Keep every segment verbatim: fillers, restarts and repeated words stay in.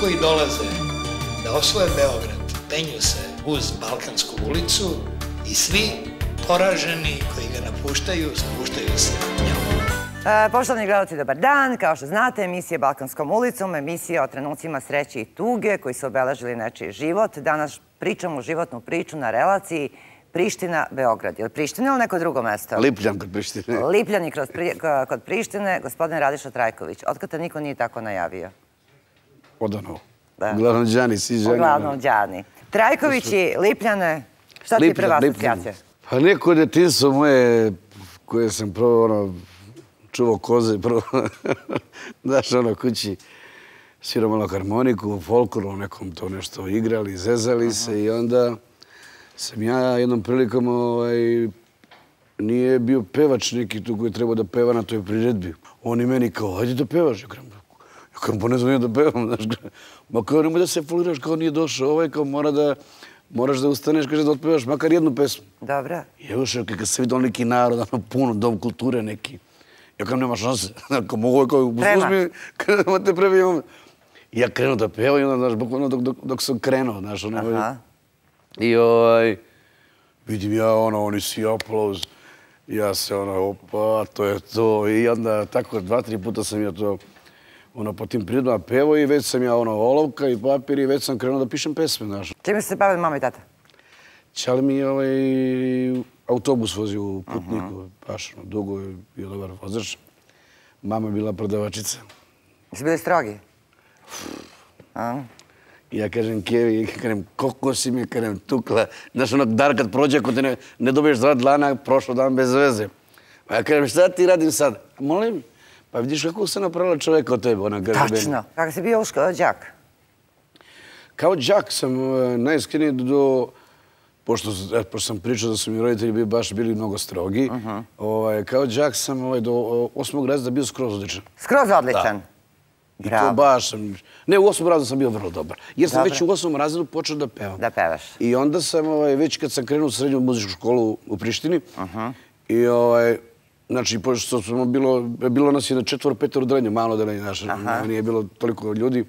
koji dolaze da osvoje Beograd penju se uz Balkansku ulicu i svi poraženi koji ga napuštaju, spuštaju se njom. Poštovani gledalci, dobar dan. Kao što znate, emisija Balkanskom ulicom, emisija o trenucima sreće i tuge koji su obeležili nečiji život. Danas pričamo životnu priču na relaciji Priština-Beograd. Je li Priština ili neko drugo mesto? Lipljan kod Prištine. Lipljani kod Prištine, gospodin Radiša Trajković. Otkad te niko nije tako najavio? Odano. Uglavnom Đani, svi Đani. Uglavnom Đani. Trajković i Lipljane, šta ti je prva asocijacija? Pa neko detinjstvo moje koje sam prvo ono čuvao koze, prvo daš ono kući svirao malo harmoniku, folkloru, nekom to nešto igrali, zezali se i onda sam ja jednom prilikom nije bio pevač neki tu koji je trebao da peva na toj priredbi. On i meni kao, hajde da pevaš. Ja kažem, pa ne znam ja da pevam, znaš. Ma kao, nemoj da se foliraš, kao nije došao ovaj, kao mora da, moraš da ustaneš, kaže da otpevaš makar jednu pesmu. Dobra. I evo što, kad se vidio neki narod, ono puno, dom kulture neki. Ja kao, nema šanse. Kao, mogu je kao, uzmi, kada te prebijem. I ja krenuo da pevam i onda, znaš, bukvalno dok sam krenuo, znaš, ono. I ovaj, vidim ja, ono, oni svi aplauz. Ja se, ono, opa, to je to. I onda tako dva, tri puta sam ja to, ono, po tim prirodama pevao i već sam ja, ono, olovka i papir i već sam krenuo da pišem pesme, znaš. Čime se bavili mama i tata? Čali mi je ovaj autobus vozio u Putniku, baš ono, dugo je bio dobar vozač. Mama je bila prodavačica. Jesi bili strogi? Ja kažem Kevi, kažem, koliko si mi, kažem, tukla. Znaš, onog dar kad prođe, ako te ne dobiješ dva dlana, prošlo dan bez veze. Pa ja kažem, šta ti radim sad? Molim, pa vidiš kako se napravila čoveka od tebe, ona kaže. Tačno. Kako si bio đak? Kao đak sam najiskreniji do... Pošto sam pričao da su mi roditelji bili baš bili mnogo strogi, kao đak sam do osmog razreda bio skroz odličan. Skroz odličan? I to baš sam... Ne, u osmom razredu sam bio vrlo dobar. Jer sam već u osmom razredu počeo da pevam. Da pevaš. I onda sam, već kad sam krenuo u srednju muzičku školu u Prištini, i znači, pošto smo bilo, bilo nas je na četvoro, petoro odeljenje, malo odeljenje naše, nije bilo toliko ljudi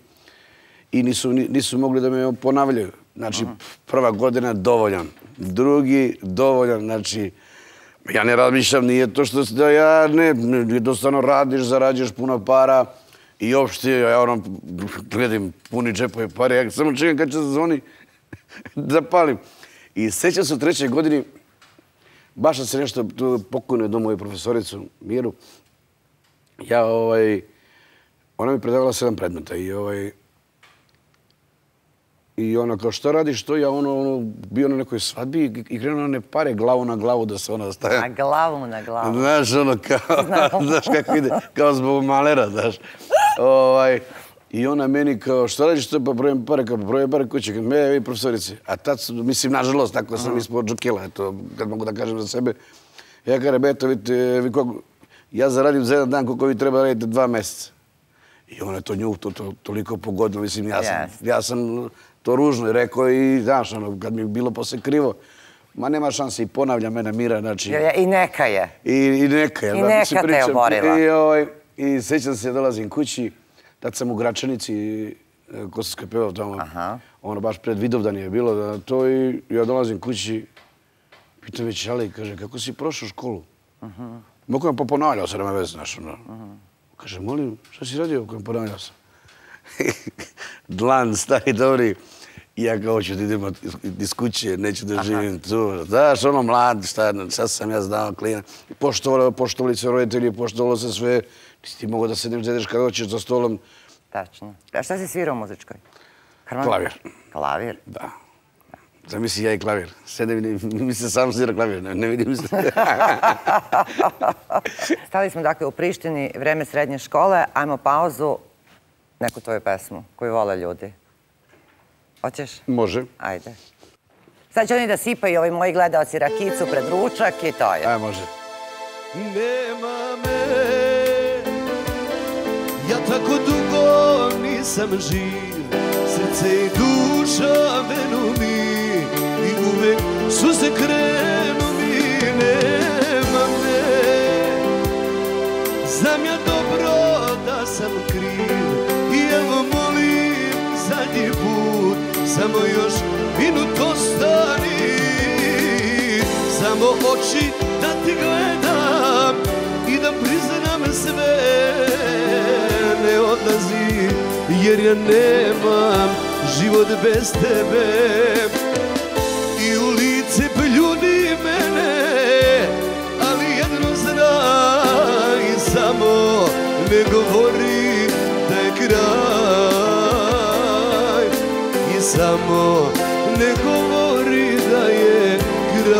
i nisu mogli da me ponavljaju. Znači, prva godina dovoljan, drugi dovoljan, znači, ja ne razmišljam, nije to što da ja ne, jednostavno radiš, zarađuješ puno para i uopšte, ja ono, gledam puni džepove pare, ja samo čekam kad će se zvoni da palim. I sećam se u trećoj godini, baš sam se nešto pokojno do moju profesoricu Miru, ja, ovaj, ona mi predavala sedam predmeta i ovaj, i ona kao šta radiš to, ja ono bio na nekoj svadbi i krenuo na one pare glavu na glavu da se ona staje. Na glavu na glavu. Znaš ono kao, znaš kako ide, kao zbog malera, znaš. I ona meni kao šta radiš to, pa brojem pare, kao brojem pare kuće, kad me vi profesorici. A tad, mislim, nažalost, tako sam ispod džukila, eto, kad mogu da kažem za sebe. Ja kažem, eto, vidite, ja zaradim za jedan dan koliko vi treba raditi dva meseca. I ona je to nju toliko pogodila, mislim, ja sam to ružno rekao i, znaš, kad mi je bilo posle krivo, ma nema šanse i ponavlja mene Mira, znači... I neka je. I neka je. I neka te je oborila. I sećam se, dolazim kući, tad sam u Gračanici, Kosovskoj pevao tamo, ono baš pred Vidovdan je bilo to i ja dolazim kući, pitam već Ali, kaže, kako si prošao školu? Mogu vam pa ponavljao se, nema veze, znaš, ono. Kaže, molim, šta si radio kojem ponavljao sam? Dlan, stari, dobri. I ja kao ću da idem iz kuće, neću da živim tu. Znaš, ono mlad, šta sam ja znao, klina. Poštovali se roditelji, poštovalo se sve. Nisi ti mogo da sedneš, da ideš kada hoćeš za stolom. Tačno. A šta si svirao u muzičkoj? Klavir. Klavir? Da. Zamisli ja i klavir. Sede vidim, mi se sam svira klavir, ne vidim se. Stali smo dakle u Prištini, vreme srednje škole, ajmo pauzu, neku tvoju pesmu koju vole ljudi. Hoćeš? Može. Ajde. Sad će oni da sipaju ovi moji gledaoci rakicu pred ručak i to je. Ajde, može. Nema me, ja tako dugo nisam živ, srce i duša venu mi i uvek suze krenu mi. Nema me, znam ja dobro da sam kriv i evo molim za samo još minut ostani, samo oči da ti gledam i da priznam sve. Ne odlazi jer ja nemam život bez tebe i u lice poljudi mene, ali jedno znaj, samo ne govori da je kraj i samo ne govori da je kraj.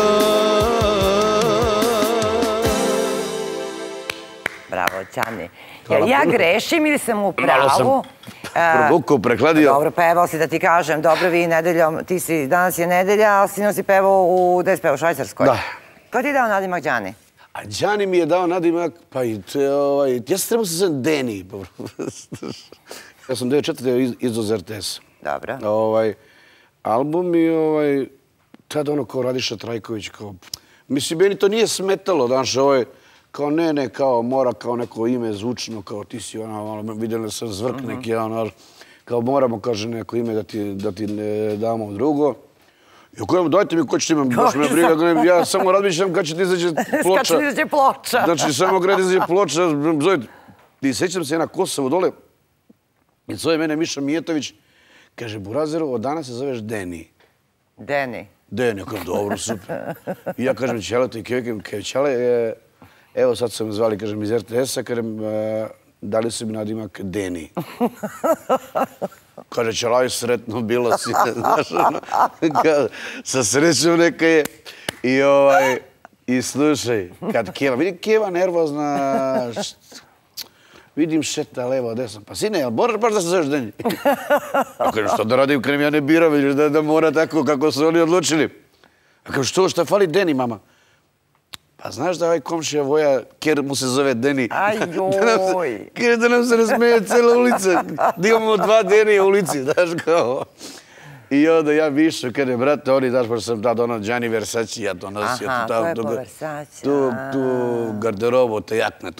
Bravo, Ćani. Jel ja grešim ili sam u pravu? Malo sam provukao, prekladio. Dobro, pevao si, da ti kažem. Dobro, vi nedeljom, ti si, danas je nedelja, ali sinoć si pevao u, gde si pevao, u Švajcarskoj? Da. Ko ti je dao nadimak Đani? A Đani mi je dao nadimak, pa i ovaj, ja sam trebao se zovem Deni. Ja sam devedeset četvrte izvoz er te es. Dobro. Ovaj, album i ovaj, tada ono kao Radiša Trajković, kao, mislim, meni to nije smetalo, znaš, ovaj, kao ne, ne, kao mora kao neko ime zvučno, kao ti si ono, ono vidjeli sam zvrk neki, ono, kao moramo, kaže, neko ime da ti, da ti ne damo drugo. I ako dajte mi ko će ti imam, baš me briga, ja samo razmišljam kad će ti izađe ploča. Kad će ti izađe ploča. Znači, samo kad izađe ploča, zovite. I sećam se ja na Kosovo dole, i zove mene Miša Mijetović, kaže, Burazeru, od danas se zoveš Deni. Deni. Deni, kao dobro, super. I ja kažem, Ćale, to i Kevike, kaj Ćale, evo sad su me zvali, kažem, iz er te es-a, kažem, dali su mi nadimak Deni. Kaže, Ćelaj, sretno bilo si, znaš, ono, sa srećom neka je. I ovaj, i slušaj, kad Keva, vidim Keva nervozna, vidim šeta levo, desno, pa sine, jel moraš baš da se zoveš Deni? A kažem, što da radim, kažem, ja ne biram, vidiš da mora tako kako su oni odlučili. A kažem, što, šta fali Deni, mama? Pa znaš da ovaj komšija Voja, ker mu se zove Deni. Ajoj. Ker da nam se ne smeje cijela ulica. Da imamo dva Denija u ulici, znaš kao. I onda ja više, kada je, brate, oni, znaš, pa sam tada ono Gianni Versace, ja to nosio. Aha, to je po Versace. Tu garderobu, te jakne,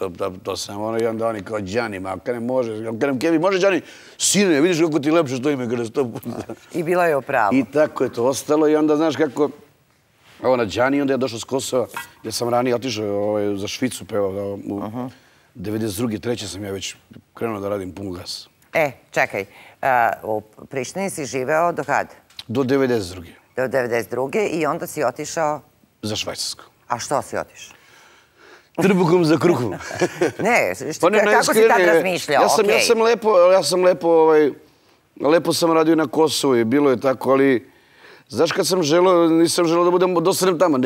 to sam ono, i onda oni kao Gianni, ma kada ne može, kada nam Kevi, može Gianni, sine, vidiš kako ti lepše što ime kada sto puta. I bila je upravo. I tako je to ostalo i onda, znaš kako, ovo na Đani, onda je došao s Kosova, jer sam ranije otišao za Švicu pevao. U devedeset druge treće sam ja već krenuo da radim pun gas. E, čekaj, u Prištini si živeo do kad? Do devedeset druge Do devedeset druge i onda si otišao... Za Švajcarsku. A što si otišao? Trbukom za kruhom. Ne, kako si tad razmišljao? Ja sam lepo, ja sam lepo, lepo sam radio na Kosovu i bilo je tako, ali... Znaš, kad sam želeo, nisam želeo da budem, dosadnem tamo,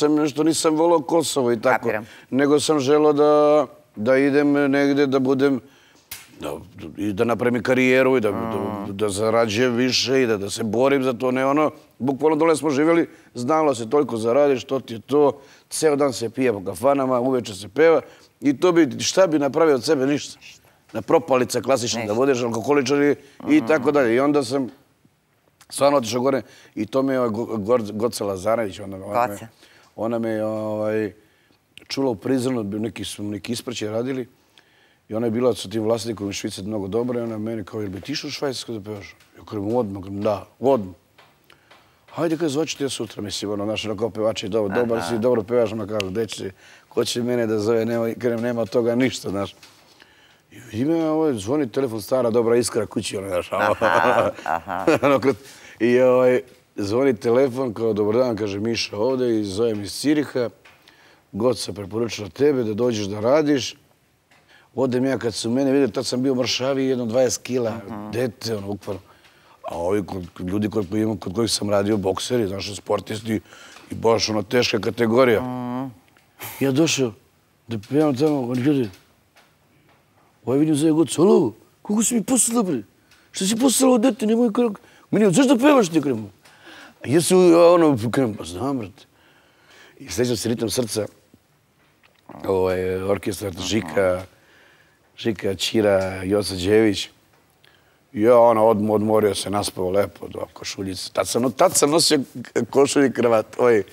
nešto nisam volao Kosovo i tako. Nego sam želeo da idem negde, da budem, da napravim karijeru i da zarađujem više i da se borim za to. Ne ono, bukvalno dole smo živjeli, znalo se toliko zaradiš, to ti je to, ceo dan se pije po kafanama, uveče se peva i to bi, šta bi napravio od sebe, ništa. Na propalica klasična, da budeš alkoholičar i tako dalje. I onda sam stvarno otišao gore i to me je Goca Lazarević, ona me je čula u Prizrenu, neki su neki ispraćaj radili i ona je bila sa tim vlasnikom iz Švice mnogo dobra i ona meni kao, jel bi ti išao u Švajcarsku da pevaš? Ja kažem, odmah, da, odmah. Hajde, kada zvaću ti ja sutra, mislim, ono, naš kao pevač je dobar si, dobro pevaš, ona kao, gde će, ko će mene da zove, nema od toga ništa, znaš. I vidi me, zvoni telefon, stara, dobra iskra kući, ono, znaš, i zvoni telefon, kao, dobar dan, kaže Miša ovde i zovem iz Ciriha, Goca preporučila tebe da dođeš da radiš. Odem ja, kad su mene vidjeli, tad sam bio mršaviji, jedno dvadeset kila, dete, ono, ukvarno. A ovi ljudi kod kojih sam radio, bokseri, znaš, sportisti, i baš ono, teška kategorija. Ja došao da pevam tamo, oni ljudi, ovaj vidim zove Goca, alo, kako si mi poslala, bre? Šta si poslala od dete, nemoj kako? Meni, zašto pevaš ti, kremu? A jesu, ono, kremu, pa znam, brate. I sledećam se Ritam srca, orkestar Žika, Žika, Ćira, Joca Đević. I ja, ono, odmorio se, naspao lepo, do košuljice. Tad sam nosio košulj i kravat.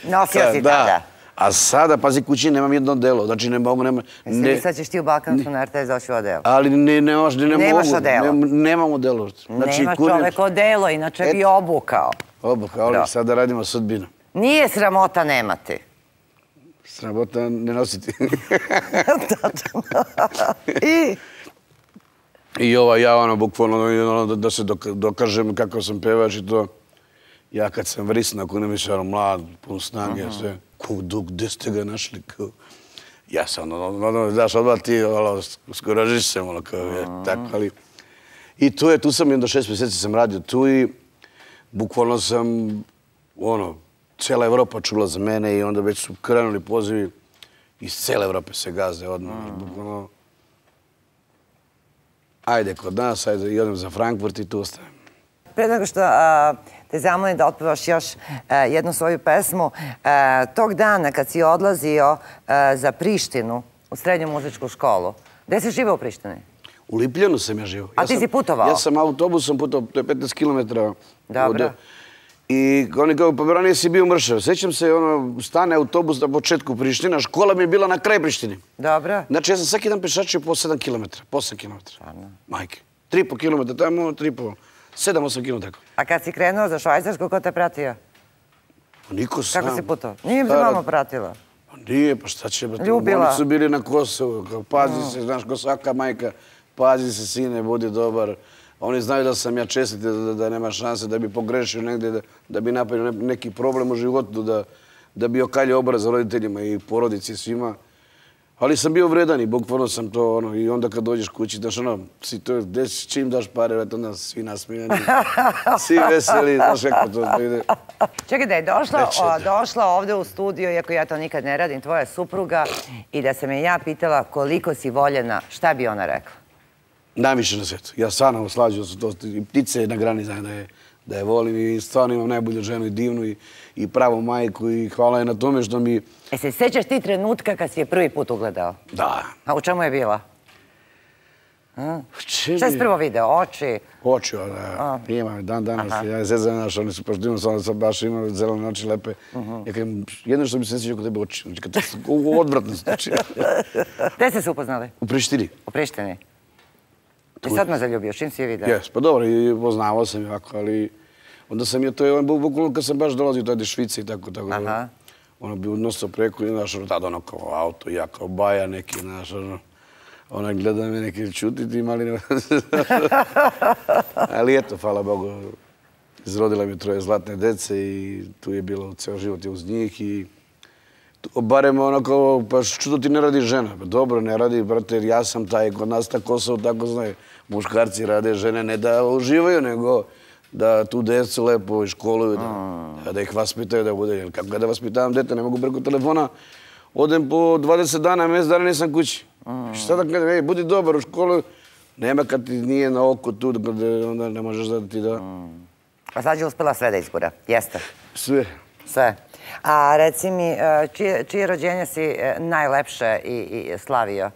Nosio si tada? A sada, pazi, kući nemam jedno delo. Znači, ne mogu, nema... Jesi sad ćeš ti u Balkansku na R T S doći u odelo? Ali ne, ne, ne, ne Nemaš mogu. odelo? Nemam odelo. Znači, nema čovek odelo, inače bi obukao. Obukao, ali sada radimo sudbinu. Nije sramota nemati. Sramota ne nositi. I? I ova, ja ono, bukvalno, da se dokažem kako sam pevač i to. Ja kad sam vrisnao, ako ne mislim, ono, mlad, pun snage, sve, kudu, gde ste ga našli, kao... Ja sam, ono, daš, odmah ti, ono, skoražiš se, ono, kao, je, tako, ali... I tu je, tu sam, jedno šest mjeseci sam radio tu i bukvalno sam, ono, cijela Evropa čula za mene i onda već su krenuli pozivi iz cijele Evrope se gaze odmah, bukvalno... Ajde kod nas, ajde, idem za Frankfurt i tu ostajem. Pre nego što te zamolim da otpevaš još jednu svoju pesmu, tog dana kad si odlazio za Prištinu u srednju muzičku školu, gde si živao u Prištini? U Lipljanu sam ja živao. A ti si putovao? Ja sam autobusom putovao, to je petnaest kilometara. Dobro. I oni kao, pa ranije si bio mršav. Sećam se, ono, stane autobus na početku Priština, škola mi je bila na kraj Prištini. Dobro. Znači, ja sam svaki dan pešačio po sedam kilometara, po osam kilometara. Majke. Tri po kilometra tamo, tri po... Sedam, osam kilometara. A kad si krenuo za Švajcarsku, ko te pratio? Niko sam. Kako si putovao? Nije mi se mama pratila. Nije, pa šta će... Ljubila. Oni su bili na Kosovu. Pazi se, znaš, ko svaka majka. Pazi se, sine, budi dobar. Oni znaju da sam ja čestit, da nema šanse da bi pogrešio negdje, da bi napravio neki problem u životu, da bi okaljio obraz roditeljima i porodici svima. Ali sam bio vredan i bukvalno sam to, ono, i onda kad dođeš kući, daš ono, si to, čim daš pare, onda svi nasmijani, svi veseli, znaš kako to ide. Čekaj, da je došla ovdje u studio, iako ja to nikad ne radim, tvoja supruga, i da sam je ja pitala koliko si voljena, šta bi ona rekla? Najviše na svijetu. Ja stvarno slađu se to, i ptice na grani znaju da je volim i stvarno imam najbolju ženu i divnu i pravu majku i hvala je na tome što mi... E se sjećaš ti trenutka kad si je prvi put ugledao? Da. A u čemu je bila? Šta si prvo video? Oči? Oči, da. Imam dan danas. Ja je zezan naš, oni su pošto imam sam baš imam zelene oči lepe. Ja kažem, jedno što mi se ne sjeća kod tebe oči. Znači, kad su odvratno znači. Gde ste se upoznali? U Prištini. U Prištini? I sad me zaljubio, čim si je video? Jes, pa dobro, i poznavao sam jako, ali onda sam je to, je bukvalno kad sam baš dolazio tada iz Švice i tako, tako. Ono bi odnosio preko i znaš, tada ono kao auto, ja kao baja neki, znaš, ono, ona gleda me neki čutiti imali ne... Ali eto, hvala Bogu, izrodila mi troje zlatne dece i tu je bilo ceo život uz njih i barem onako, pa što ti ne radi žena? Dobro, ne radi, brate, jer ja sam taj, kod nas ta Kosovo, tako znaju, muškarci rade, žene ne da uživaju, nego da tu decu lepo školuju, da ih vaspitaju, da bude, kako da vaspitavam dete, ne mogu preko telefona, odem po dvadeset dana, mjesec dana nisam kući. Šta da kažem, ej, budi dobar u školu, nema kad ti nije na oko tu, onda ne možeš da ti da... A sad je uspela sve da izgura, jeste? Sve. Sve. A reci mi, čije rođenje si najlepše i slavio?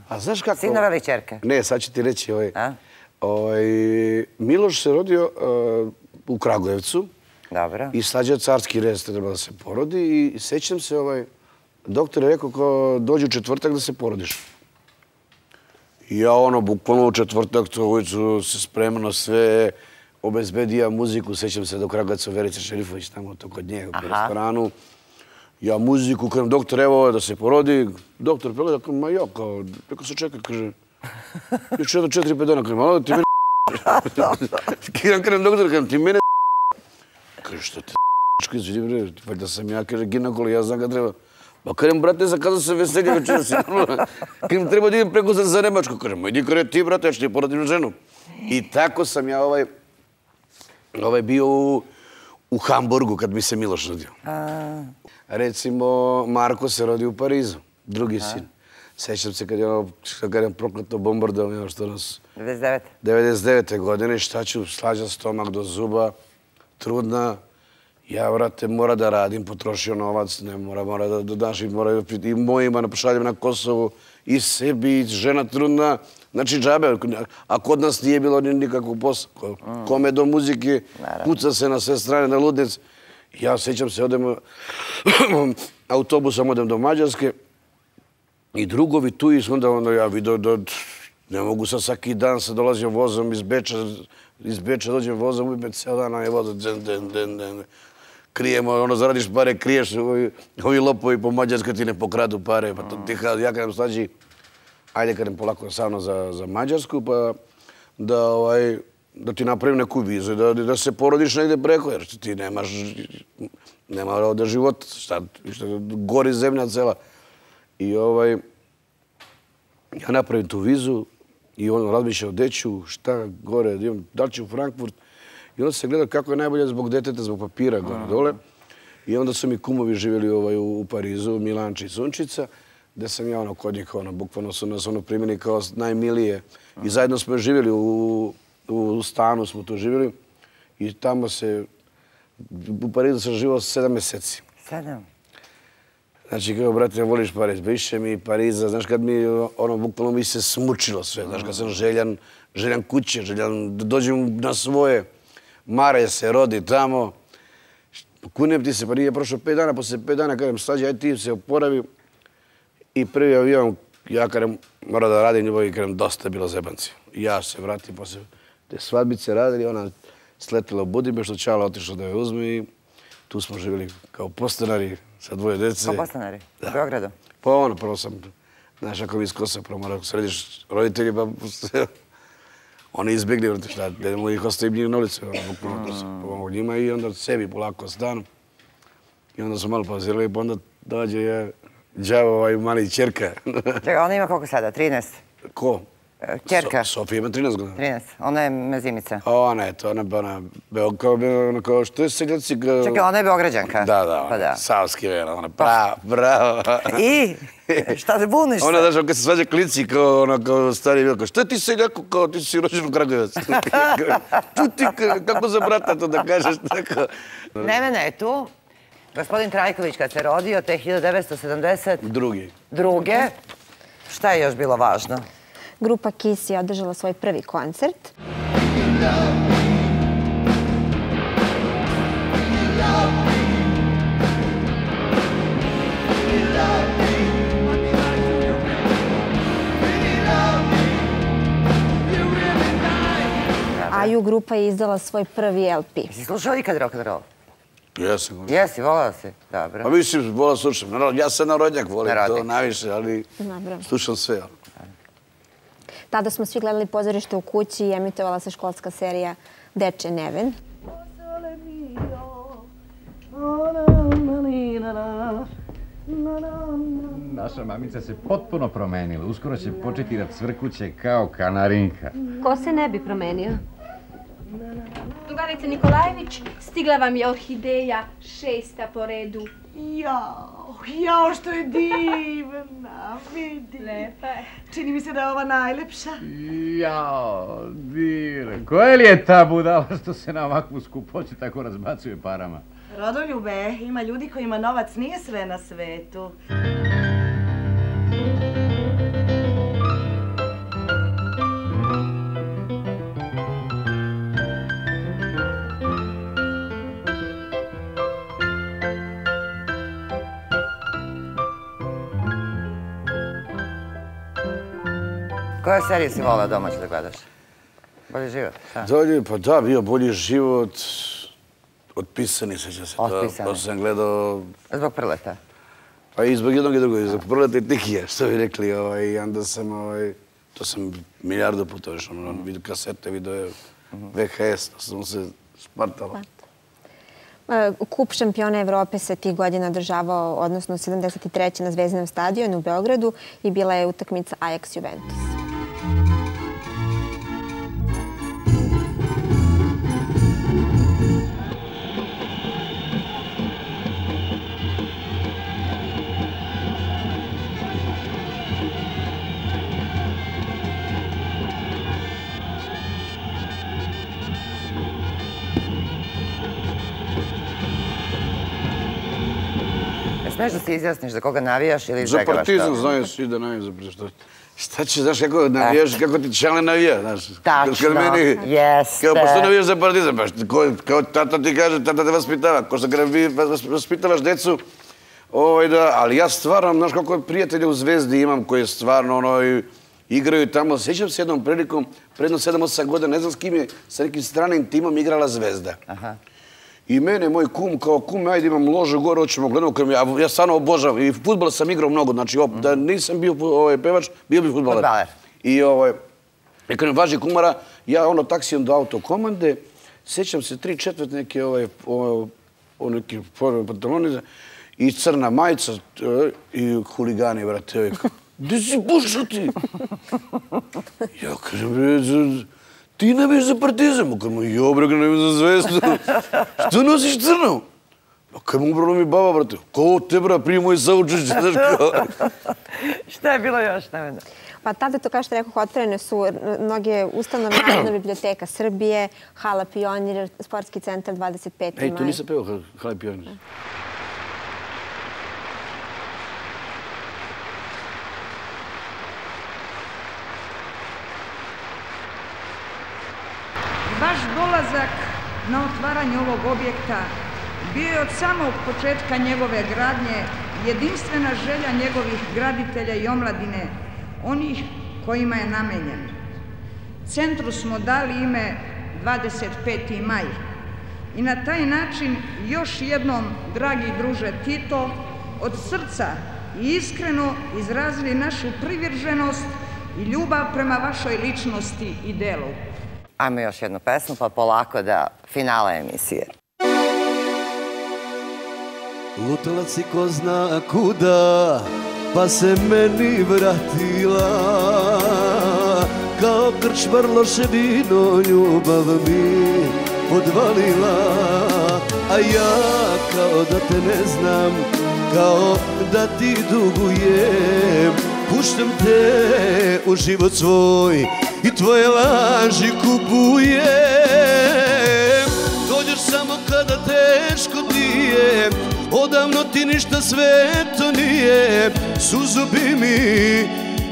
A znaš kako... Sinove ili čerke? Ne, sad ću ti reći. Miloš se rodio u Kragujevcu. Dobro. I slađao carski rez, treba da se porodi. I sećam se, doktor je rekao ko dođe u četvrtak da se porodiš. I ja ono, bukvalno u četvrtak, to ulicu se spremno sve... obezbedija muziku, sećam se do Kragujevca Verica Šerifović, tamo to kod njega u restoranu. Ja muziku, kažem, doktor, evo da se porodi. Doktor pregleda, kažem, ma ja, kao, neko se čeka, kaže, još jedno četiri, pet dana, kažem, ali ti mene Kažem, kažem, doktor, kažem, ti mene kaže, što te izvidi, bre, valjda sam ja, kaže, ginekolo, ja znam ga treba. Pa kažem, brate, zakazao se veselje večera si, kažem, treba da idem preko za Nemačku, kažem, idi kare ti, brate, ja ću ti porodim ženu. I tako sam ja ovaj Ovaj bio u Hamburgu kad mi se Miloš rodio. Recimo, Marko se rodio u Parizu, drugi sin. Sećam se kad je prokleto bombardovanje, što nas... devedeset devete. devedeset devete godine, šta ću, slađa stomak do zuba, trudna. Ja, vrate, mora da radim, potrošio novac, ne mora, mora da dodašim, mora i mojima pošaljem na Kosovu, i sebi, i žena trudna. Znači, džabe, a kod nas nije bilo nikakvog posla. Kome do muzike, puca se na sve strane na ludnic. Ja sećam se, odemo autobusom odem do Mađarske i drugovi tu i onda, onda ja vidio da ne mogu sad svaki dan se dolazio vozom iz Beča, iz Beča dođem vozom, uvijek ceo dan je voza, den, den, den, den. Krijemo, ono, zaradiš pare, kriješ, ovi, ovi lopovi po Mađarskoj ti ne pokradu pare, pa to ti ja kažem slađi, ajde kažem polako sa mnom za, za Mađarsku, pa da, ovaj, da ti napravim neku vizu, da, da se porodiš negde preko, jer ti nemaš, nema ovdje života, šta, šta, gori zemlja cela. I ovaj, ja napravim tu vizu i on razmišlja o deću, šta gore, da li će u Frankfurt. I onda se gleda kako je najbolje zbog deteta, zbog papira gore dole. I onda su mi kumovi živjeli ovaj, u Parizu, Milanči i Sunčica, gde sam ja ono kod njih, ono, bukvalno su nas ono primjeni kao najmilije. I zajedno smo živjeli, u, u stanu smo tu živjeli. I tamo se, u Parizu sam živao sedam mjeseci. Sedam? Znači, kao, brate, voliš Pariz, više mi Pariza, znaš, kad mi, ono, bukvalno mi se smučilo sve, znaš, kad sam željan, željan kuće, željan da dođem na svoje, Mare se rodi tamo, kunem ti se, pa nije prošlo pet dana, posle pet dana, kažem, slađe, aj ti se oporavi i prvi avion, ja kažem, mora da radim ljubav i kažem, dosta je bilo zebanci. I ja se vratim, posle te svadbice radili, ona sletila u Budimpeštu, Čala otišla da je uzme i tu smo živjeli kao podstanari sa dvoje dece. Kao podstanari? U Beogradu? Pa ono, prvo sam, znaš, ako vi iz Kosa, prvo mora središ roditelji, pa oni izbjegli, vrte šta, da ih ostavim njih na ulicu, bukvalno pomogu njima i onda sebi polako stanu. I onda su malo pauzirali, pa onda dođe je đavo ovaj mali čerka. Čekaj, ona ima koliko sada? trinaest? Ko? Čerka? Sofija ima trinaest godina. trinaest. Ona je mezimica. Ona je to, ona je ona kao što je seljaci... Čekaj, ona je Beograđanka. Da, da, ona je savski vela, ona prava, bravo. I? Šta se buniš se? Ona, znaš, kad se svađa klici kao, ona, kao stari vela, kao, šta ti seljako, kao ti si rođen u Kragujevac? Čuti, kako za brata to da kažeš tako? Nevena je tu. Gospodin Trajković kad se rodio, te hiljadu devetsto sedamdeset Drugi. Druge. Šta je još bilo važno? Grupa Kiss je održala svoj prvi koncert. Aju grupa je izdala svoj prvi el pe. Jesi slušao ikad rock and roll? Jesam. Jesi, volao si? Dobro. Pa mislim, volao slušam. Ja sam narodnjak, volim to najviše, ali slušam sve. Tada smo svi gledali pozorište u kući i emitovala se školska serija Deče Neven. Naša mamica se potpuno promenila. Uskoro će početi da cvrkuće kao kanarinka. Ko se ne bi promenio? Drugarice Nikolajević, stigla vam je orhideja šesta po redu. Jao, jao što je divna, vidi. Lepa je. Čini mi se da je ova najlepša. Jao, divna. Koja li je ta budala što se na ovakvu skupoću tako razbacuje parama? Rodoljube, ima ljudi kojima novac nije sve na svetu. Koje serije si volao domaće da gledaš? Bolji život? Pa da, bio Bolji život. Otpisani, seća se to. Otpisani. To sam gledao... Zbog Prleta? Pa i zbog jednog i drugog. Zbog Prleta i Tikija, što bi rekli. I onda sam... To sam milijardu puta još. Vidio kasete, vidio ve ha es. To sam se spartalo. Kup šampiona Evrope se tih godina održavao, odnosno sedamdeset treće na Zvezdinom stadionu u Beogradu i bila je utakmica Ajax-Juventus. Smeš da se izjasniš za koga navijaš ili za izbjegavaš to? Za Partizan znaju svi da navijaju za Partizan. Šta će, znaš kako navijaš, kako ti Čale navija, znaš. Tačno, jeste. Kao, pa što navijaš za Partizan? Pa kao tata ti kaže, tata te vaspitava. Ko što kada vi vaspitavaš decu, Ali ja stvarno, znaš koliko prijatelja u Zvezdi imam koji stvarno igraju tamo. Sjećam se jednom prilikom, predno sedam osam godina, ne znam s kim je, sa nekim stranim timom igrala Zvezda. I mene, moj kum, kao kum, ajde imam ložu gore, hoćemo gledamo, ja stvarno obožavam. I fudbal sam igrao mnogo, znači da nisam bio pevač, bio bi fudbaler. I kad mi važi kumara, ja ono taksijem do autokomande, sjećam se tri četvrt neke neke pantalone i crna majica i huligani, brate. Gdje si pušao ti? Ja kažem, ti ne biš za Partizan. Kažem, jo bre, ne biš za Zvezdu. Što nosiš crno? Kaj mu upravo mi baba, brate. Ko te, bra, prije moj saučešće, znaš kao. Šta je bilo još, Nevena? Pa tada, to kao što rekao, otvorene su mnoge ustanove, Narodna biblioteka Srbije, Hala Pionir, Sportski centar dvadeset peti maj. Ej, tu nisam peo Hala Pionir. Vaš dolazak na otvaranje ovog objekta bio je od samog početka njegove gradnje jedinstvena želja njegovih graditelja i omladine, onih kojima je namenjen. Centru smo dali ime dvadeset peti maj i na taj način još jednom, dragi druže Tito, od srca i iskreno izrazili našu privrženost i ljubav prema vašoj ličnosti i delu. Ajmo još jednu pesmu, pa polako da finala emisije. Lutala si ko zna kuda, pa se meni vratila. Kao krčmar loše vino ljubav mi odvalila. A ja kao da te ne znam, kao da ti dugujem. Puštam te u život svoj i tvoje laži kupujem. Dođeš samo kada teško ti je, odavno ti ništa sveto nije. Suzu bi mi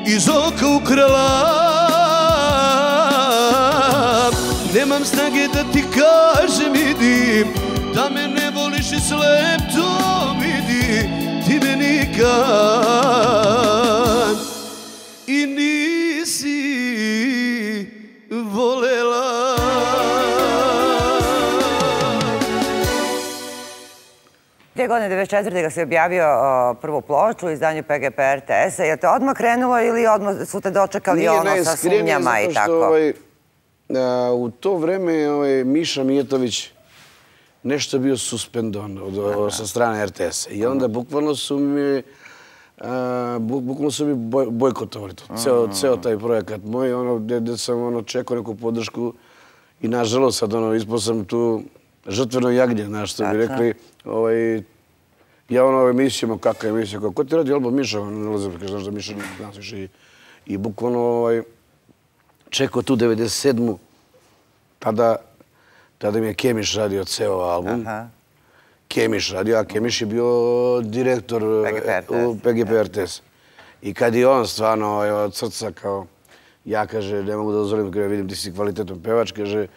iz oka ukrala. Nemam snage da ti kažem idi, da me ne voliš i slep to vidi. Ti me nikad i nisi volela. Te godine devedeset četvrte ga si objavio prvu ploču u izdanju P G P R T S-a. Je to odmah krenulo ili odmah su te dočekali ono sa sumnjama i tako? U to vreme Miša Mijetović nešto bio suspendovan sa strane R T S-a. I onda bukvalno su mi bukvalno su mi bojkotovali to. Ceo taj projekat moj, gde sam čekao neku podršku i nažalost sad ispao sam tu žrtveno jagnje, znaš što bi rekli. Ja ono emisijama, kakva emisija, ko ti radi album Miša, ne ulazim, znaš da Miša nas više i bukvalno čekao tu devedeset sedmu. Tada mi je Kemiš radio ceo album. Kemiš radio, a Kemiš je bio direktor u P G P R T S. I kad je on stvarno od srca kao, ja kaže, ne mogu da dozvolim, kada vidim ti si kvalitetom pevač, kaže,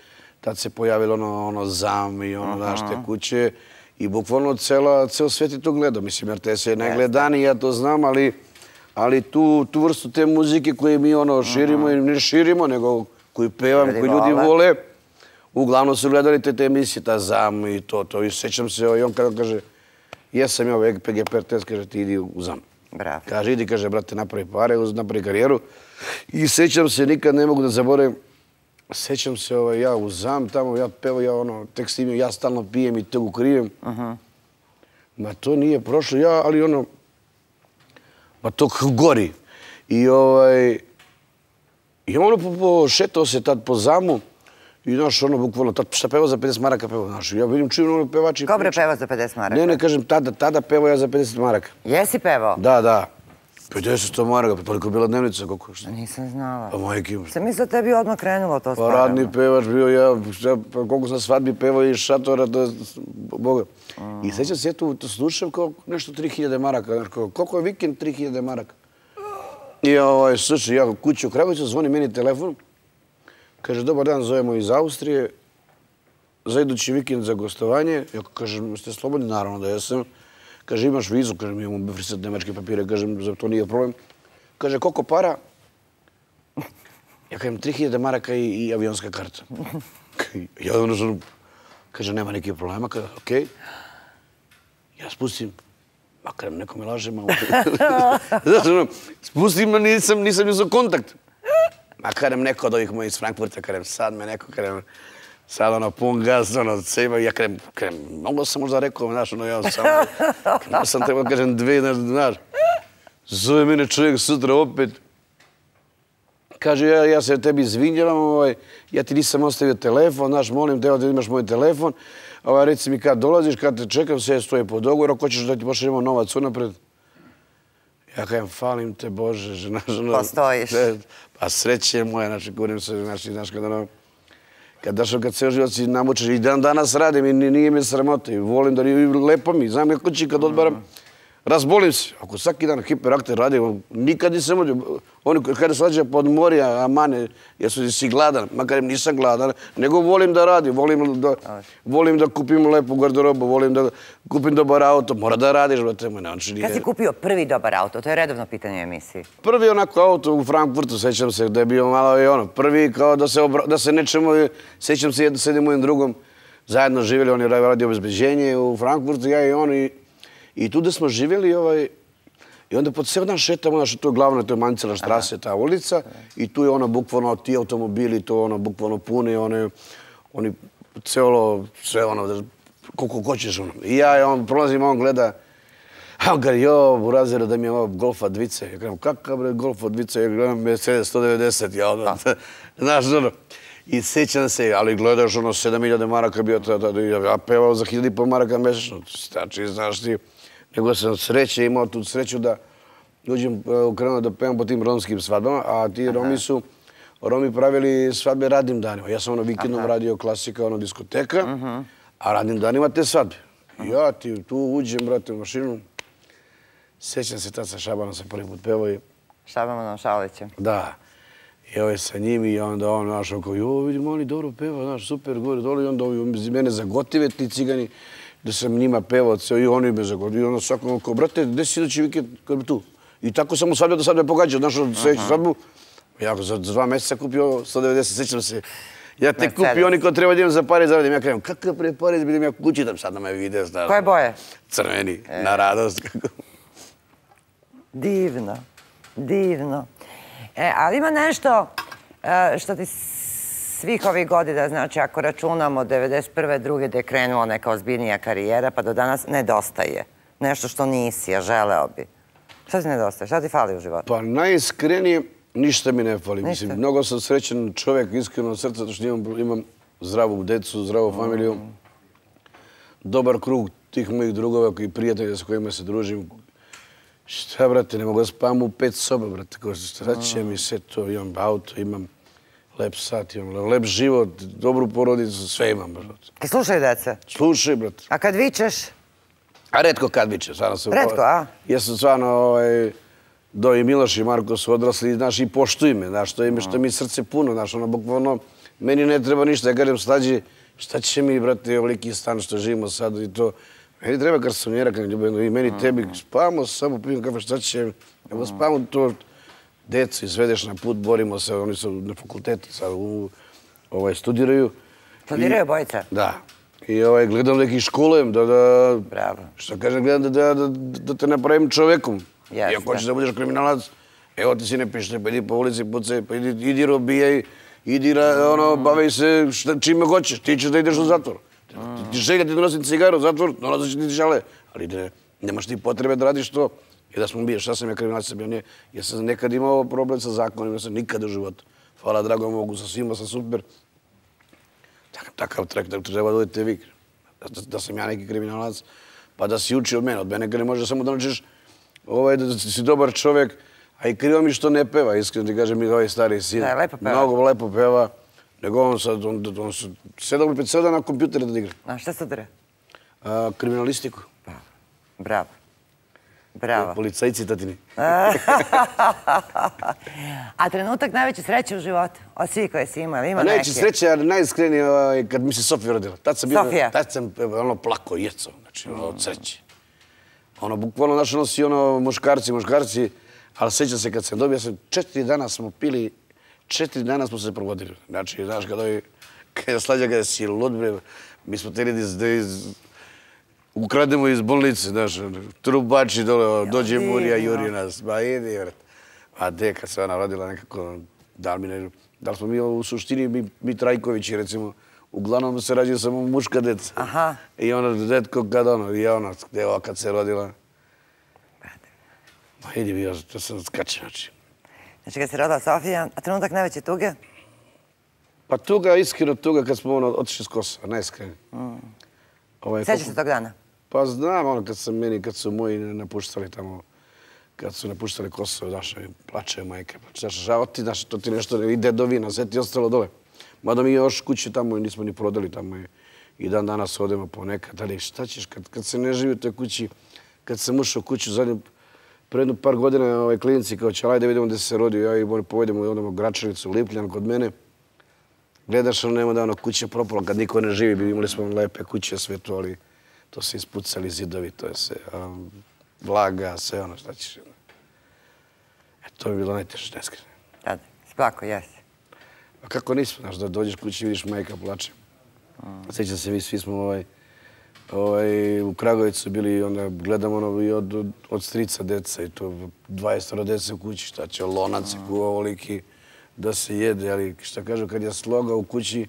tad se pojavilo ono Zam i ono naš te kuće i bukvalno ceo svet je to gledao. Mislim, R T S je najgledaniji, ja to znam, ali tu vrstu te muzike koje mi ono širimo i ne širimo, nego koju pevam, koju ljudi vole, uglavnom su gledali te emisije, ta Zam i to, to. I sećam se, i on kada kaže, jesam ja P G P R T S, kaže, ti idi u Zam. Kaže, idi, kaže, brate, napravi pare, napravi karijeru. I sećam se, nikad ne mogu da zaboravim, sećam se, ja u Zam, tamo ja pevam, ja ono, tek snimim, ja stalno pijem i tegu krijem. Ma to nije prošlo, ja, ali ono, ma to gori. I ovaj, i ono, šetao se tad po Zamu, i znaš, ono, bukvalno, šta peva za pedeset maraka peva, znaš, ja vidim čim ono pevači... Ko bre peva za pedeset maraka? Ne, ne, kažem, tada, tada pevao ja za pedeset maraka. Jesi pevao? Da, da. pedeset maraka, pa toliko je bila dnevnica, koliko što? Nisam znala. Pa majke... Sam mislila da tebi odmah krenulo to stvarno. Pa radni pevač bio ja, koliko sam svadbi pevao iz šatora, to je Boga. I sećam se, ja tu slušam kao nešto tri hiljade maraka, znaš, koliko je vikend tri hiljade maraka. I ovaj, slušaj, ja kući u Kragovicu, zvoni meni telefon, kaže, dobar dan, zovemo iz Austrije, za idući vikend za gostovanje. Ja kažem, ste slobodni? Naravno da jesam. Kaže, imaš vizu, kažem, imamo befrisat nemačke papire, kažem, za to nije problem. Kaže, koliko para? Ja kažem, tri hiljade maraka i avionska karta. Ja ono, kaže, nema nekih problema, kaže, okej. Ja spustim, makar neko me laže malo. Znači, ono, spustim, nisam, nisam uzeo kontakt. Makar neko od ovih mojih iz Frankfurta, kažem, sad me neko, kažem, sad ono, pun gaz, ono, seba, ja kažem, kažem, mogo sam možda rekao, znaš, ono, ja sam, kažem, sam trebao, kažem, dve, znaš, zove mene čovjek sutra opet, kaže, ja, ja se tebi izvinjavam, ovaj, ja ti nisam ostavio telefon, znaš, molim te, da imaš moj telefon, ovaj, reci mi kad dolaziš, kad te čekam, sve stoje po dogovoru, ako ćeš da ti pošaljemo novac unapred. Ja kažem, falim te, Bože, znaš, ono... Postojiš. Pa sreće moja, znači, govorim se, znači, znaš, kad ono... Kad dašao, kad ceo život si namučeš, i dan danas radim i nije mi sramota, i volim da i lepo mi, znam kako će kad odbaram, razbolim se. Ako svaki dan hiperakter radim, nikad nisam odio. Oni kada se lađe pod morija, amane, jesu si gladan, makar nisam gladan, nego volim da radim, volim da, volim da kupim lepu garderobu, volim da kupim dobar auto, mora da radiš, brate moj, znači nije... Kad si kupio prvi dobar auto? To je redovno pitanje emisiji. Prvi onako auto u Frankfurtu, sećam se da je bio malo i ono, prvi kao da se, obra... da se nečemu, sećam se jedno s jednim mojim drugom, zajedno živjeli, on je radio obezbeđenje u Frankfurtu, ja i on i I tu da smo živjeli, ovaj, i onda po ceo dan šetamo, znaš, to je glavno, to je Mancela štrase, ta ulica, i tu je ono, bukvalno, ti automobili, to ono, bukvalno puni, one, oni, celo, sve ono, koliko hoćeš, ono. I ja, on prolazim, on gleda, a on kaže, jo, burazero, da mi je ovo Golfa dvice. Ja kažem, kakav bre Golfa dvice? Ja gledam Mercedes sto devedeset, ja ono, znaš, ono. I sećam se, ali gledaš, ono, sedam hiljada maraka bio, ja pevao za hiljada i pol maraka mesečno, znači, znaš ti, nego sam sreće, imao tu sreću da uđem, krenuo da pevam po tim romskim svadbama, a ti Romi su, Romi pravili svadbe radnim danima. Ja sam ono vikendom radio klasika, ono diskoteka, a radnim danima te svadbe. Ja ti tu uđem, brate, u mašinu, sećam se tad sa Šabanom sam prvi put pevao i... Šabanom Šalićem. Da. I ovo je sa njim i onda on, znaš, oko, jo, vidimo, oni dobro peva, znaš, super, gore, dole, i onda ovi mene zagotive, ti cigani, da sam njima pevao, ceo, i oni me zagotive, i onda svakom oko, brate, gde si idući vikend, kad bi tu? I tako sam u svadbe do svadbe pogađao, znaš, od sledeću svadbu, ja za dva meseca kupio sto devedeset, sećam se, ja te kupio oni ko treba da imam za pare zaradim, ja krenem, kakav pre pare, bilim ja kući, da sad na me vide, znaš. Koje boje? Crveni, na radost. Divno, divno. E, ali ima nešto što ti svih ovih godina, znači ako računamo devedeset prve druge da je krenula neka ozbiljnija karijera, pa do danas nedostaje. Nešto što nisi, a želeo bi. Šta ti nedostaje? Šta ti fali u životu? Pa najiskrenije, ništa mi ne fali. Mislim, mnogo sam srećan čovjek, iskreno od srca, zato što imam, imam zdravu decu, zdravu familiju, dobar krug tih mojih drugova i prijatelja sa kojima se družim. Šta, brate, ne mogu da spavam u pet soba, brate, ko šta će mi sve to, imam auto, imam lep sat, imam lep život, dobru porodicu, sve imam, brate. Ti slušaju dece? Slušaj, brate. A kad vičeš? A retko kad vičem, stvarno sam... Retko, a? Jesu stvarno, Do i Miloš i Marko su odrasli, znaš, i poštuj me, znaš, što mi srce puno, znaš, ono, bukvalno, meni ne treba ništa, ja kažem, Slađi, šta će mi, brate, ovoliki stan što živimo sad i to... Meni treba garsonjera, kad ljubeno, i meni tebi, spavamo samo, pijem kafe, šta će, evo spavamo to, decu izvedeš na put, borimo se, oni su na fakultetu sad, studiraju. Studiraju bojica? Da. I gledam da ih školujem, da, da, Bravo. što kažem, gledam da te napravim čovekom. I ako hoćeš da budeš kriminalac, evo ti si ne pište, pa idi po ulici, pucaj, pa idi robijaj, idi, bavaj se čime hoćeš, ti ćeš da ideš u zatvor. Ti želja ti donosim cigaru u zatvor, dolazit će ti žale, ali nemaš ti potrebe da radiš to. I da smo bili, šta sam ja kriminalac sam bio, nije. Ja sam nekad imao problem sa zakonom, ja sam nikad u životu. Hvala dragom Bogu, sa svima sam super. Takav trek da treba da budete vi. Da sam ja neki kriminalac, pa da si uči od mene. Od mene ne može samo da naučiš da si dobar čovjek, a i krivo mi što ne peva, iskreno ti kažem mi ovaj stari sin. Da, lepo peva. Mnogo lepo peva, nego on sad, on se sedam ili pet sada na kompjutere da igra. A šta studira? Kriminalistiku. Bravo. Bravo. Policajci tatini. A trenutak najveće sreće u životu? Od svih koje si imao, ima neke? Najveće sreće, ali najiskrenije kad mi se Sofija rodila. Sofija? Tad sam plako, jecao, znači od sreće. Ono, bukvalno naše nosi ono muškarci, muškarci, ali sjećam se kad sam dobio, sam četiri dana smo pili, četiri dana smo se provodili. Znači, znaš, kad ovi, kad je slađa, kada si lud, bre, mi smo teli da iz, ukrademo iz bolnice, znaš, trubači dole, dođe Murija, juri nas, ba idi, vrat. A de, kad se ona rodila nekako, da li mi ne, da li smo mi u suštini, mi, mi Trajkovići, recimo, uglavnom se rađaju samo muška deca. Aha. I ono, detko kad ono, i ono, evo, kad se rodila. Ma idi mi, ja to sam skačen, znači. Znači, kad se rodila Sofija, a trenutak najveće tuge? Pa tuga, iskreno tuga, kad smo ono, otišli s Kosova, najiskreno. Sjećaš se tog dana? Pa znam, ono, kad sam meni, kad su moji napuštali tamo, kad su napuštali Kosovo, daš, plače majke, plače, žao ti, znaš, to ti nešto ide do vina, sve ti ostalo dole. Mada mi još kući tamo nismo ni prodali tamo i dan danas odemo po nekad, ali šta ćeš, kad, kad se ne živi u toj kući, kad sam ušao u kuću zadnju, pre jednu par godina ovaj klinici kao će, ajde vidimo gdje se rodio, ja i oni povedemo i odemo u Gračanicu, u Lipljan kod mene. Gledaš, ono nema da ono kuće propalo, kad niko ne živi, imali smo lepe kuće, sve to, ali to se ispucali zidovi, to je sve, um, vlaga, sve ono, šta ćeš. E, to bi bilo najteže, neskreno. Tada, splako, jesi. A kako nismo, znaš, da dođeš kući i vidiš majka plače. Sjećam se, mi svi smo ovaj, ovaj, u Kragovicu bili, onda gledamo ono i od, od, od strica deca i to dvadeset dece u kući, šta će, lonac i kuva ovoliki da se jede, ali šta kažu, kad je sloga u kući,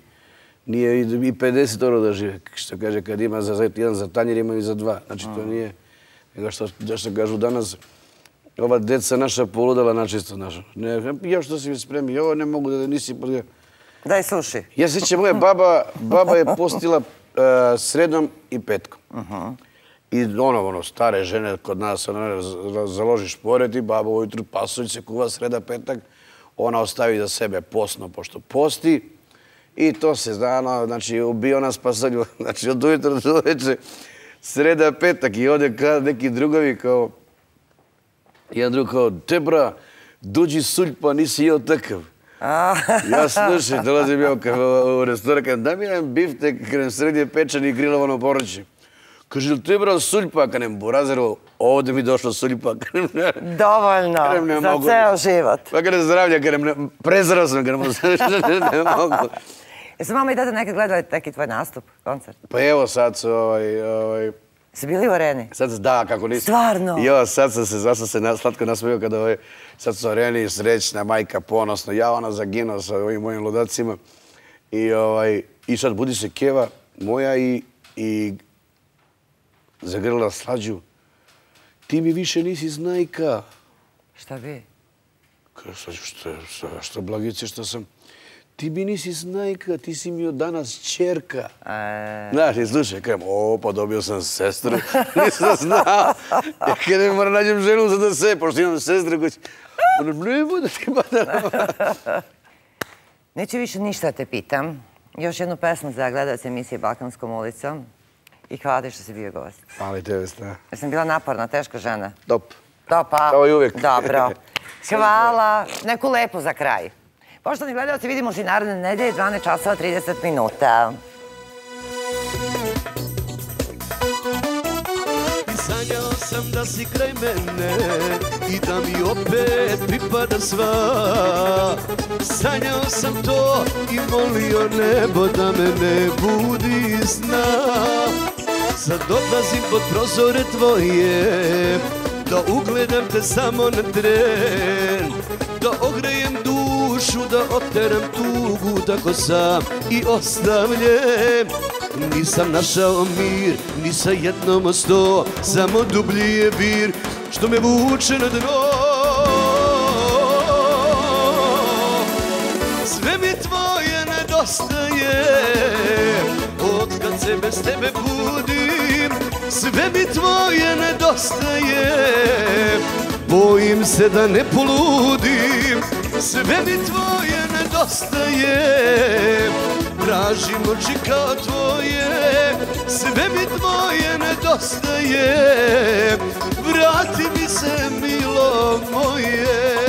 nije i pedeset oro da žive. Šta kaže, kad ima za jedan za tanjer, ima i za dva. Znači, to nije, nego što, što kažu danas, ova deca naša poludala načisto naša. Ne, ja što si mi spremi, ovo ne mogu da nisi... Daj suši. Ja se sjećam, moja baba, baba je postila uh, sredom i petkom. Uh-huh. I ono, ono, stare žene kod nas, ono, založiš pored i baba ujutru pasulj se kuva sreda, petak, ona ostavi za sebe posno, pošto posti. I to se zna, ono, znači, ubio nas pasulj, znači, od ujutru do veče, sreda, petak i ode kad neki drugovi kao, jedan drug kao, Debra, dođi sulj pa nisi jeo takav. Ja slušaj, dolazim ja u restoran, kada da mi jedan biftek, kada srednje pečan i grilovano povrće. Kaže, li Debra sulj pa, kada nem Burazerovo, ovdje mi došlo sulj pa. Dovoljno, za ceo život. Pa kada zdravlja, kada nem prezrao sam, kada ne mogu. Jesu mama i dada nekad gledali neki tvoj nastup, koncert? Pa evo sad su ovaj... ovaj su bili u areni? Sad, da, kako nisam. Stvarno? Jo, sad sam se, sad sam se slatko nasmijao kada ovaj, sad su u areni, srećna, majka, ponosno. Ja ona zaginuo sa ovim mojim ludacima. I, ovaj, i sad budi se Keva moja i, i zagrlila Slađu. Ti mi više nisi znajka. Šta bi? Kaže, Slađu, što, što, što blagice, što sam... Ti mi nisi znajka, ti si mi od danas čerka. Znaš, i slušaj, kajem, o, pa dobio sam sestru, nisam znao. Ja kada mi moram nađem ženu za da se, pošto imam sestru koji će... Ne bude ti badala. Neću više ništa te pitam. Još jednu pesmu za gledalce emisije Balkanskom ulicom. I hvala ti što si bio gost. Hvala i tebe, sta. Ja sam bila naporna, teška žena. Top. Topa. Kao i uvijek. Dobro. Hvala. Neku lepu za kraj. Poštovani gledalci, vidimo se i naredne nedelje, dvanaest časova trideset minuta. Sanjao sam da si kraj mene i da mi opet pripada sva. Sanjao sam to i molio nebo da me ne budi sna. Sad odlazim pod prozore tvoje, da ugledam te samo na tren, da ogrejem dušu, da oteram tugu, tako sam i ostavljen. Nisam našao mir, ni sa jednom od sto, samo dublji je vir, što me vuče na dno. Sve mi tvoje nedostaje, otkad se bez tebe budim. Sve mi tvoje nedostaje, bojim se da ne poludim. Sve mi tvoje nedostaje, tražim oči kao tvoje. Sve mi tvoje nedostaje, vrati mi se, milo moje.